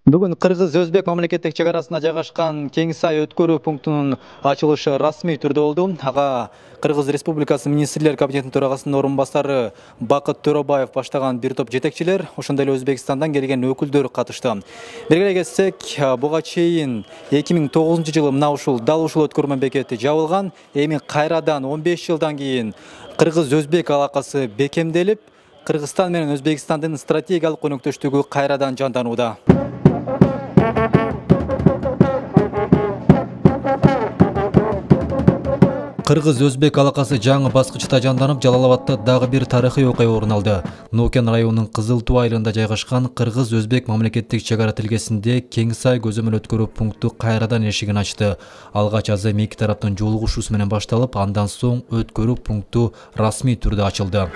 Бүгүн Кыргыз-Өзбек мамлекеттик чек арасында жайгашкан Кеңсай өткөрүү пунктунун ачылышы расмий түрдө болду. Ага Кыргыз Республикасы Министрлер кабинетинин төрагасынын орун басары Бакыт Төрөбаев баштаган бир топ жетекчилер, ошондой эле Өзбекстандан келген өкүлдөр катышты. Бергиле кетсек, буга чейин 2009 жылы мына дал ушул өткөрмө бекети жабылган. Эми кайрадан 15 жылдан кийин Кыргыз-Өзбек алакасы бекемделип, Кыргызстан менен Өзбекстандын стратегиялык өнөктөштүгү кайрадан жанданууда. Кыргыз-Өзбек алакасы жаңы баскычта жанданып, Жалал-Абадта дагы бир тарыхый окуя орун алды. Нукен районунун Кызыл Туу айылында жайгашкан Кыргыз-Өзбек мамлекеттик чек ара тилкесинде Кеңсай көзөмөл өткөрүү пункту кайрадан эшигин ачты. Алгач азыркы эки тараптын жолугушуусу менен башталып, андан соң өткөрүү пункту расмий түрдө ачылды.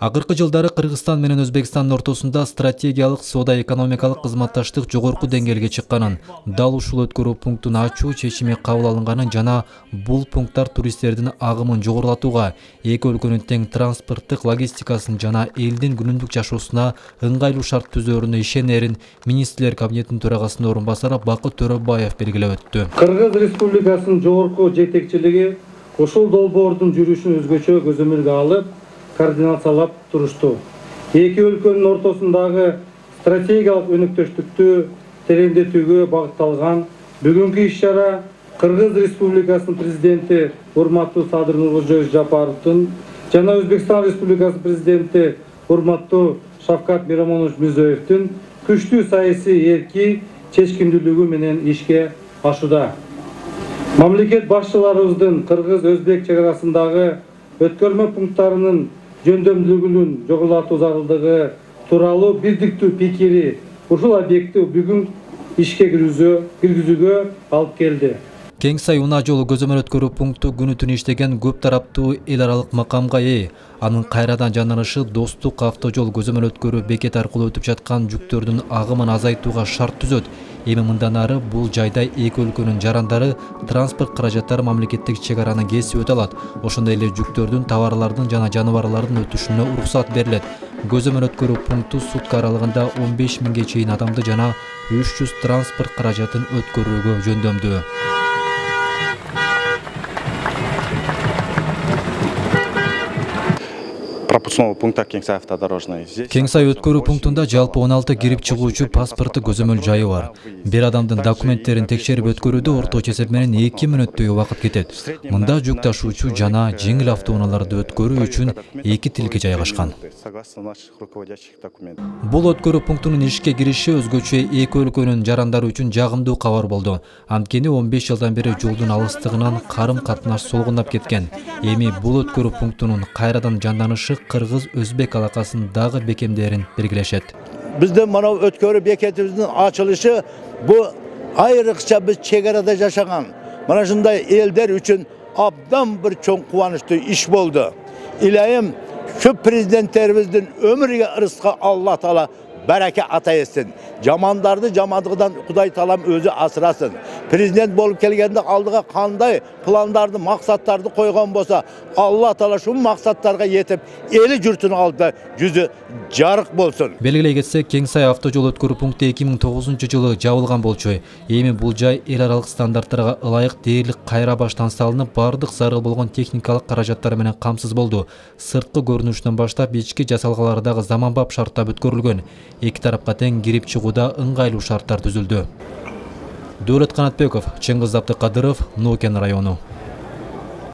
Акыркы жылдары Кыргызстан менен Өзбекстандын ортосунда стратегиялык соода-экономикалык кызматташтык жогорку деңгээлге чыкканын, дал ушул өткөрүү пунктун ачуу чечими кабыл алынганын жана бул пункттар туристтердин агымын жогорулатууга, эки өлкөнүн тең транспорттук логистикасын жана элдин күнүмдүк жашоосуна ыңгайлуу шарт түзөөрүнө ишенерин Министрлер кабинетинин төрагасынын орун басары Бакыт Төрөбаев белгилеп өттү. Кыргыз Республикасынын жогорку жетекчилиги ушул долбоордун жүрүшүн өзгөчө көзөмөлгө алып, координациялап турушту. Эки өлкөнүн ортосундагы стратегиялык өнөктөштүктү тереңдетүүгө багытталган бүгүнкү иш-чара Кыргыз Республикасынын президенти урматтуу Садыр Нуркожоевич Жапаровдун жана Өзбекстан Республикасынын президенти урматтуу Шавкат Миромонович Мирзиёевдин күчтүү саясий эрки чечкиндүүлүгү менен ишке ашууда. Мамлекет башчыларыбыздын Кыргыз-Өзбек чек арасындагы өткөрмө пункттарынын жөндөмдүүлүгүн жогорулатуу зарылдыгы тууралуу бирдиктүү пикири ушул объектти бүгүн ишке киргизүүгө алып келди. Кеңсай унаа жолу көзөмөл өткөрүү пункту күнү түнү иштеген көп тараптуу эл аралык макамга ээ. Анын кайрадан жанданышы достук автожол көзөмөл өткөрүү бекети аркылуу өтүп жаткан жүктөрдүн агымын азайтууга шарт түзөт. Эми мындан ары бул жайда эки өлкөнүн жарандары транспорт каражаттары мамлекеттик чек араны кесип өтө алат. Ошондой эле жүктөрдүн, товарлардын жана жаныбарлардын өтүшүнө уруксат берилет. Көзөмөл өткөрүү пункту сутка аралыгында 15 миңге чейин адамды жана 300 транспорт каражатын өткөрүүгө жөндөмдүү. Пропускного пункта Кеңсай автодорожный. Кеңсай өткөрүү пунктунда жалпы 16 кирип чыгуучу паспорту көзөмөл жайы бар. Бир адамдын документтерин текшерип өткөрүүдө орточо эсеп менен 2 мүнөттөй убакыт кетет. Мында жүк ташуучу жана жеңил автоунааларды өткөрүү үчүн 2 тилке жайгашкан. Бул өткөрүү пунктунун ишке кириши өзгөчө эки өлкөнүн жарандары үчүн жагымдуу кабар болду. Анткени 15 жылдан бери жолдун алыстыгынан карым-катнаш солгундап кеткен. Эми бул өткөрүү пунктунун кайрадан жанданышы Кыргыз-Өзбек алакасын дагы бекемдерин белгилешет. Биздин мына өткөрүү бекетибиздин ачылышы бу айрыкча биз чек арада жашаган мына ушундай элдер үчүн абдан бир чоң кубанычтуу иш болду. Илайым şu prezidentlerimizin ömrüge ırıska Allah Teala bereke ata etsin. Jamandardı jamandıgıdan Kuday Talam özü asırasın. Prezident bolup kelgende aldığı kanday planlardı, maksatlardı koygan bolsa Allah Teala şu maksatlarga yetip eli jurtunu aldı yüzü жарык болсун. Белгилей кетсек, Кеңсай автожол өткөрүү пункту 2009 жылы жабылган болчу. Эми бул жай эл аралык стандарттарга ылайык дээрлик кайра баштан салынып, бардык зарыл болгон техникалык каражаттар менен камсыз болду. Сырткы көрүнүшүнөн баштап ички жасалгалары дагы заманбап шартта өткөрүлгөн. Эки тарапка тең кирип чыгууда ыңгайлуу шарттар түзүлдү. Дөөлөт Канатбеков, Чыңгыз Абдыкадыров, Нукен району.